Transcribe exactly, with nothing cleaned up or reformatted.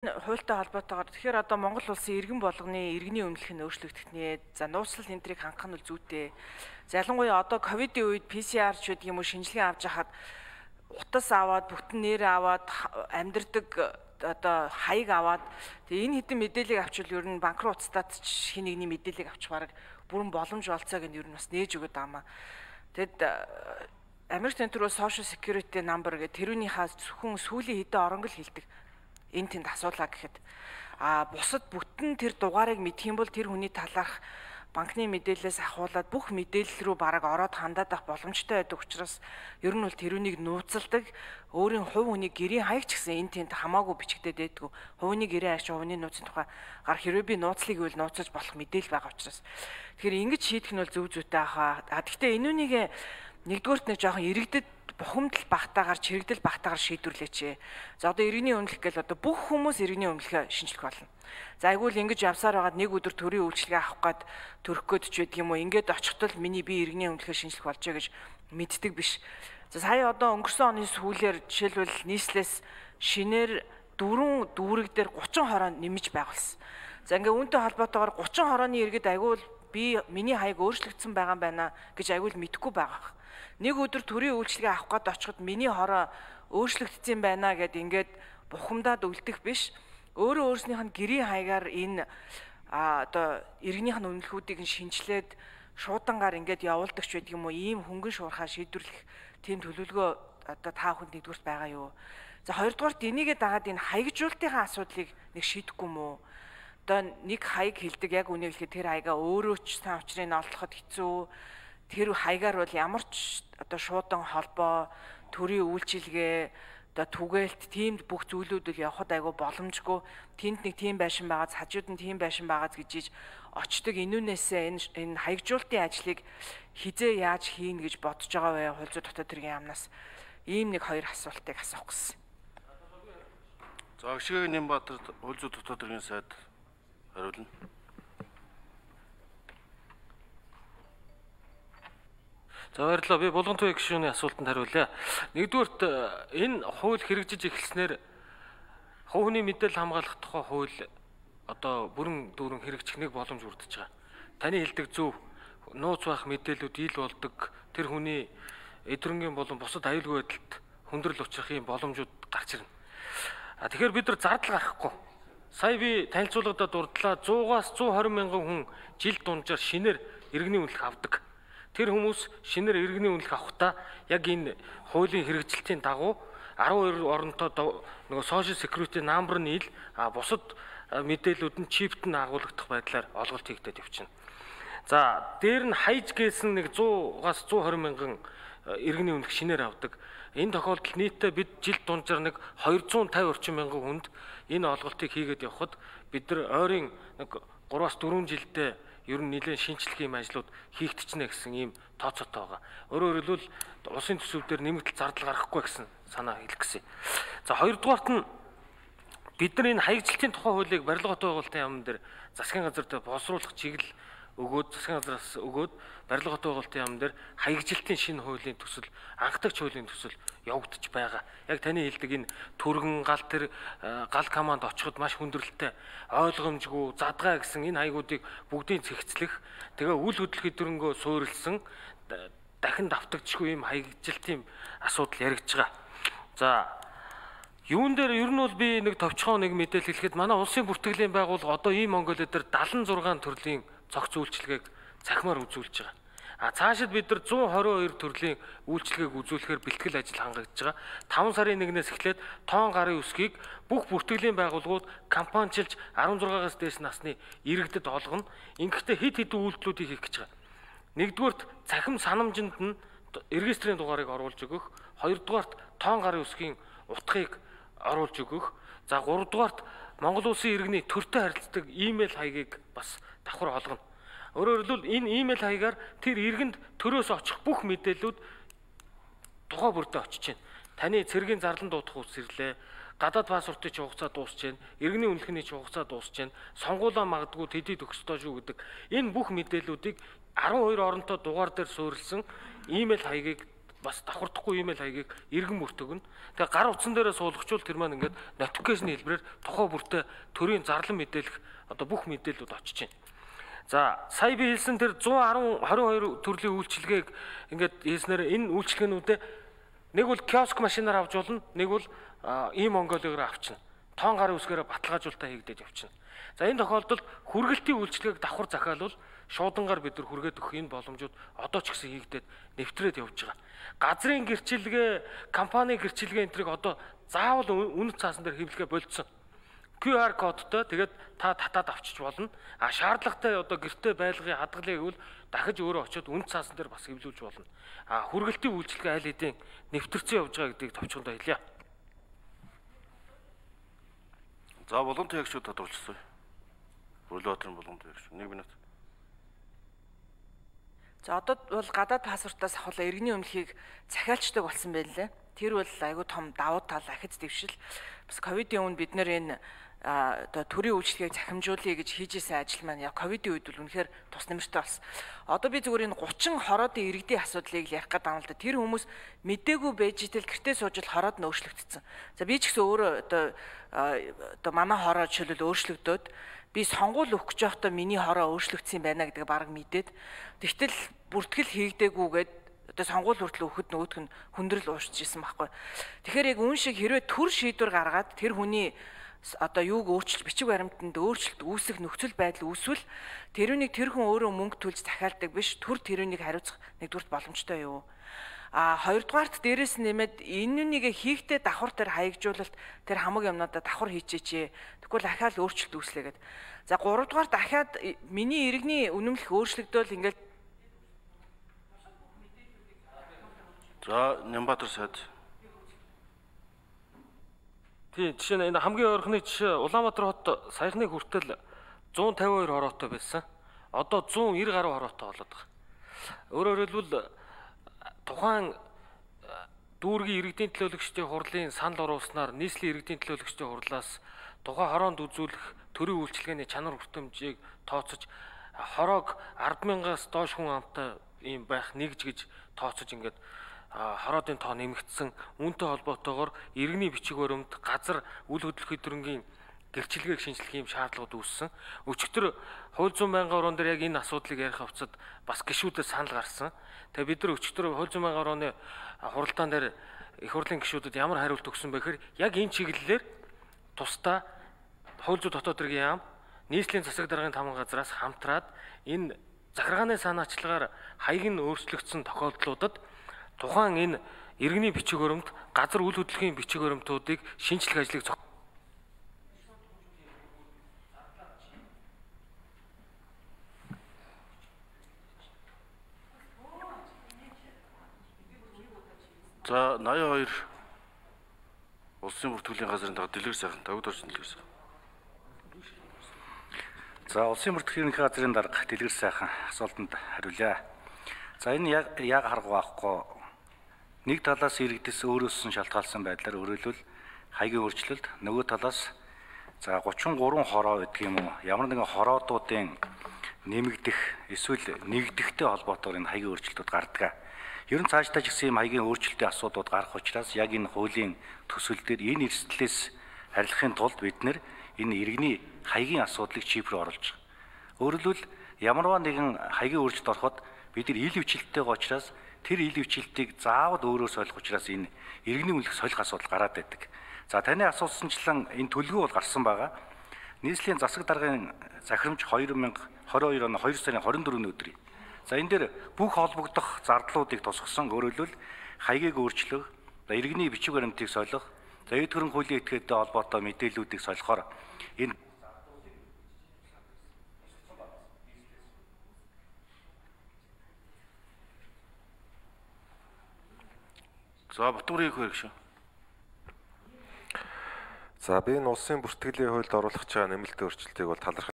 Хуультай холбоотойгоор тэгэхээр одоо Монгол улсын иргэн болгоны иргэний өмнөх нь өөрчлөгдөх нэ. За нууцлал энтрийг хангах нь зүйтэй. Ялангуяа одоо ковидын үед пи си ар ч гэдэг юм уу шинжилгээ авч хахад утас аваад бүтэн нэр аваад амьдэрдэг одоо хаяг аваад тэгээ энэ хэдэн мэдээллийг авчвал ер нь банк руу уцтаад хин нэгний мэдээллийг авчих бараг бүрэн боломж болцоог нь ер нь бас нээж өгöd аамаа. Тэгэд Америк тэнтрүү social security number гэх тэрүүнийхээ зөвхөн сүүлийн хэдэн оронгол хэлдэг. Энэ тэнд асуулаа гэхэд а бусад бүтэн тэр дугаарыг мэдэх юм бол тэр хүний талаарх банкны мэдээлэлээс ахуулаад бүх мэдээлэл рүү бараг ороод хандаад авах боломжтой байдаг учраас ер нь бол тэрүүнийг нууцалдаг өөрийн хувь хүний гэрийн хаяг ч гэсэн энэ тэнд хамаагүй бичигдээд байдгүй хувийн гэрийн хаяг хувийн нууцын тухай гар хэрвээ би нууцлыг үйл нууцаж болох мэдээлэл байгаа учраас тэгэхээр ингэж шийдэх нь бол зөв зүйтэй ахаа. А гэхдээ энүүнийг нэгдүгээрт нэг жоохон иргэдэд бухимдал багтаагаар чирэгдэл багтаагаар шийдвэрлээч. За одоо иргэний өмнөх гэл одоо бүх хүмүүс иргэний өмнөхөө шинжлэх болно. За айгуул ингэж явсаар байгаад нэг өдөр төрийн үйлчлэгээ авах гээд төрөх гээд ч байдаг юм уу. Ингээд очихтол миний би иргэний өмнөхөө шинжлэх болж байгаа гэж мэддэг биш. За сая одоо өнгөрсөн оны сүүлээр жишээлбэл нийслэлээс шинээр дөрвөн дүүрэг дээр гучин хороо нэмж байгуулсан. За ингээ үүнтэй холбоотойгоор гучин хорооны иргэд айгуул би миний хаяг өөрчлөгдсөн байгаа юм байна гэж айгуул мэдэхгүй байгаа. Нэг өдөр төрийн үйлчлэгээ авах гээд очиход миний хороо өөрчлөгдсөн байна гэд ингээд бухимдаад үлдэх биш. Өөрөө өөрснийх нь гэрийн хаягаар энэ одоо иргэнийх нь үнэлгүүдийг шинжилээд шуудангаар ингээд явуулдаг ч байдаг юм уу. Ийм хөнгөн шуурхаа шийдвэрлэх тийм төлөвлөгөө одоо та бүхэнд нэгдүгürt байгаа юу. За хоёрдугаарт энийгээ дагаад энэ хаягжуултынхаа асуудлыг нэг шийдэхгүй мүү. Одоо нэг хаяг хэлдэг яг үнийг хэлэхэд тэр хаягаа өөрөө ч сайн учрыг олоход хэцүү. Тэр хаягаар бол ямар ч одоо шуудан холбоо, төрийн үйлчилгээ, одоо түгээлт тиймд бүх зүйлүүд л явахад айгүй боломжгүй. Тэнд нэг тийм байшин байгааз, хажууд нь тийм байшин байгааз гэж очдөг. Энүүнээсээ энэ энэ хаягжуултын ажлыг хизээ яаж хийнэ гэж бодож байгаа вэ? Хууль зүйн дотоод хэргийн яамнаас ийм нэг хоёр асуултыг асуух гэсэн. За Агшгийн Нямбатар хууль зүйн дотоод хэргийн сайд хариулна. За баярлалаа. Би Булгантуй гишүүний асуултанд хариулъя. Нэгдүгürt энэ хууль хэрэгжиж эхэлснээр хувь хүний мэдээлэл хамгаалах тухай хууль одоо бүрэн дүүрэн хэрэгжих нэг боломж бүрдэж байгаа. Таны хэлдэг зөв нууц байх мэдээллүүд ил болдог. Тэр хүний эдрэнгийн болон бусад аюулгүй байдалд хүндрэл учрах юм боломжууд гарч ирнэ. А тэгэхээр бид нар зардал гаргахгүй. Сая би танилцуулгадаа дурдлаа зуугаас зуун хорин мянган хүн жил дунджаар шинээр иргэний үнэлэх авдаг. Тэр хүмүүс шинээр иргэний үнэлэх авахдаа яг энэ хуулийн хэрэгжилтийн дагуу арван хоёр оронтой нөгөө social security number нь ил а бусад мэдээллүүд нь чипт нь агуулгадах байдлаар олголт хийгдээд явчихна. За дээр нь хайж гээсэн нэг зуугаас зуун хорин мянган иргэний үнэлэх шинээр авдаг. Энэ тохиолдолд нийтдээ бид жил дунджаар нэг двухсад и пятьдесят орчим мянган хүнд энэ олголтыг хийгээд явхад бид нар ойрын нэг гураваас дөрвөн жилдээ ер нь нэлээд шинжлэх юм ажлууд хийгдчихнэ гэсэн ийм тооцоотой байгаа. Өөрөөр хэлбэл улсын төсөв дээр нэмэгдэл зардал гаргахгүй гэсэн санаа хэлэх гэсэн. За хоёрдугаарт нь бид нар энэ хаягжилтын тухай хуулийг барилгын байгуулалтын яамн дээр засгийн газар дээр боловсруулах чиглэл өгөөд засгийн газраас өгөөд барилгын байгуулалтын яамн дээр хаягжилтын шинэ хуулийн төсөл анхдагч хуулийн төсөл явагдаж байгаа. Яг таны хэлдэг энэ түргэн гал тэр гал команд очиход маш хүндрэлтэй ойлгомжгүй задгаа гэсэн энэ хаягуудыг бүгдийг цэгцлэх тэгээ үл хөдлөх өдрөнгөө суурилсан дахин давтагдчихгүй юм хаягжилтын асуудал яригдж байгаа. За юун дээр ер нь бол би нэг товчхон нэг мэдээлэл хэлэхэд манай улсын бүртгэлийн байгууллага одоо ийм Монголиа дээр дагалан зургаан төрлийн цогц үйлчилгээг цахимаар үзүүлж байгаа. А цаашид бид нар зуун хорин хоёр төрлийн үйлчилгээг үзүүлэхээр бэлтгэл ажил хангагдж байгаа. таван сарын нэгнээс эхлээд тоон гарын үсгийг бүх бүртгэлийн байгууллагууд компаничилж арван зургаагаас дээш насны иргэдэд олгоно. Ингэхдээ хэд хэдэн үйлдэлүүдийг хийх гэж байгаа. Нэгдүгürt цахим санамжинд нь регистрийн дугаарыг оруулж өгөх, хоёрдугаарт тоон гарын үсгийн утгыг оруулж өгөх, за гуравдугаарт Монгол улсын иргэний төртэй харилцдаг имэйл хаягийг бас давхар олгоно. Өөрөөр хэлбэл энэ имэйл хаягаар тэр иргэнд төрөөс очих бүх мэдээллүүд тухай бүрдээ очиж байна. Таны цэргийн зарлан дуудах үс ирлээ, гадаад паспортын ч хугацаа дуусч байна, иргэний үнэлгээний ч хугацаа дуусч байна, сонгуулаа магадгүй тэдий төгсдөө шүү гэдэг. Энэ бүх мэдээллүүдийг арван хоёр оронтой дугаар дээр суурилсан имэйл хаягийг бас давхардахгүй ийм л хаягийг иргэн бүрт өгнө. Тэгээ гар утсан дээрээ суулгачвал тэр маань ингээд notification хэлбэрээр тухай бүртээ төрийн зарлан мэдээлэх одоо бүх мэдээлэлүүд очиж байна. За сая би хэлсэн тэр one ten twenty two төрлийн үйлчилгээг ингээд хэлснээр энэ үйлчилгээнүүдээ нэг бол киоск машинаар авч болно, нэг бол ийм Монголиогоор авчна. Тоон гарын үсгээр баталгаажуулалтаа хийгдэж явчихна. За энэ тохиолдолд хүргэлтийн үйлчилгээг давхар захиалвал шуудангаар бид нар хүргээд өгөх энэ боломжууд одоо ч гэсэн хийгдээд нэвтрээд явж байгаа. Газрын гэрчилгээ, компани гэрчилгээ энтрийг одоо заавал үнэт цаасан дээр хэвлэхэ болцсон. кью ар кодтой тэгээд та татаад авчиж болно. А шаардлагатай одоо гэртээ байлгын хадгалыг бол дахиж өөрөө очиод үнэт цаасан дээр бас хэвлүүлж болно. А хүргэлтийн үйлчилгээ аль хэдийн нэвтэрсэн явж байгаа гэдгийг товчхондоо хэлье. За Булган туягчид тодорхойлчихсон. Бүрлөөтрийн Булган туягч. нэг минут. За одоо бол гадаад паспортоос авахлаа иргэний өмнөхийг захиалчдаг болсон байна лээ. Тэр бол айгүй том давуу тал ахиц дэвшил. Бас ковидын өмнө бид нэр энэ одоо төрийн үйлчлэгийг захимжуулъя гэж хийжсэн ажил маань яг ковидын үед бол үнэхээр тус нэмэртэй болсон. Одоо би зүгээр энэ thirty хороодын иргэдийн асуудлыг ярих гэдэг юм л да. Тэр хүмүүс мдээгүй байж итэл гэртээ сууж л хороод нь өөрчлөгдсөн. За би ч гэсэн өөрөө одоо одоо манай хороо жишээлбэл өөрчлөгдөөд би сонгуул өгөх гэж байхдаа миний хороо өөрчлөгдсөн байна гэдэг баг мэдээд тэгтэл бүртгэл хийгдэггүйгээд одоо сонгуул хүртэл өгөхөд нөгөөх нь хүндрэл уушж исэн байхгүй. Тэгэхээр яг үн шиг хэрвээ төр шийдвэр гаргаад тэр хүний одоо юуг өөрчлөлт бичиг баримтанд өөрчлөлт үүсэх нөхцөл байдал үүсвэл тэрүүнийг тэр хүн өөрөө мөнгө төлж захиалдаг биш төр тэрүүнийг хариуцах нэгдүгürt боломжтой юу? А хоёрдугаарт дээрээс нэмээд энэ нэг хийхдээ давхар тэр хаягжуулалт тэр хамаг юмнуудаа давхар хийчихээ. Тэгвэл дахиад өөрчлөлт үүслэгээд. За гуравдугаар дахиад миний иргэний үнэмлэх өөрчлөгдөөл ингээл. За Нямбатар сайд. Тийм жишээ нь энэ хамгийн ойрхны жишээ Улаанбаатар хот саяхны хүртэл one fifty-two хороотой байсан. Одоо one ninety гаруй хороотой болоод байгаа. Өөрөөр хэлбэл тухайн дүүргийн иргэдийн төлөөлөгчдийн хурлын санал оруулснаар нийслэлийн иргэдийн төлөөлөгчдийн хурлаас тухайн хороонд үзүүлэх төрийн үйлчилгээний чанар хүртэмжийг тооцож хороог ten thousand-аас доош хүн амтай ийм байх нэгж гэж тооцож ингээд хороодын тоо нэмэгдсэн үүнтэй холбоотойгоор иргэний бичиг баримт газар үл хөдлөх хөдөлгөөний гэрчилгээг шинжлэх юм шаардлагууд үүссэн. Өчигдөр хууль зүйн байнгын орон дээр яг энэ асуудлыг ярих хавцад бас гишүүдээс санал гарсан. Тэгээ бид нар өчигдөр хууль зүйн байнгын орооны хуралдаан дээр их хурлын гишүүдэд ямар хариулт өгсөн бэ гэхээр яг энэ чиглэлээр тусдаа хууль зүйн дотоод хэргийн яам нийслэлийн засаг даргын тамга газраас хамтраад энэ захиргааны санаачлагаар хаяг нь өөрчлөгдсөн тохиолдлуудад тухайн энэ иргэний бичиг баримт, газар үл хөдлөлийн бичиг баримтуудыг шинжлэх ажлыг зохион За ninety-two улсын бүртгэлийн газрын дага дэлгэр сайхан тавд орсон дэлгэр сайхан. За улсын бүртгэлийн газрын дарга дэлгэр сайхан асуултанд хариулъя. За энэ яг яг харга байхгүй нэг талаас иргэдэс өөрөөс нь шалтгаалсан байдлаар өөрөлдвөл хаягийн өөрчлөлт нөгөө талаас за thirty-three хороо гэдэг юм уу ямар нэгэн хороодуудын нэмэгдэх эсвэл нэгдэхтэй холбоотойгоор энэ хаягийн өөрчлөлтүүд гардаг. Ер нь цаашдаа ч гэсэн юм хаягийн өөрчлөлтийн асуудлууд гарах учраас яг энэ хуулийн төсөл дээр энэ эрсдлээс харилцахын тулд бид нэр энэ иргэний хаягийн асуудлыг чипрээр оруулж байгаа. Өөрөлдвөл ямарваа нэгэн хаягийн өөрчлөлт ороход бид нар ил хвчлэлтэйг учраас тэр ил хвчлэлтийг заавал өөрөө солих учраас энэ иргэний үнэлэх солих асуудал гараад байдаг. За таны асуусанчлан энэ төлгөө бол гарсан байгаа. Нийслэлийн засаг даргын захирамж two thousand twenty-two оны two сарын twenty-fourны өдрийн. За энэ дээр бүх холбогдох зардлуудыг тусгасан өөрөлдвөл хаягийг өөрчлөх, иргэний бичиг баримтыг солих, за эд хөрөнгө хуулийн этгээдтэй холбоотой мэдээллүүдийг солихоор энэ За Батбарын хөрөг шүү. За би энэ улсын бүртгэлийн хуульд оруулах чагаа нэмэлт өөрчлөлтийг бол талархаж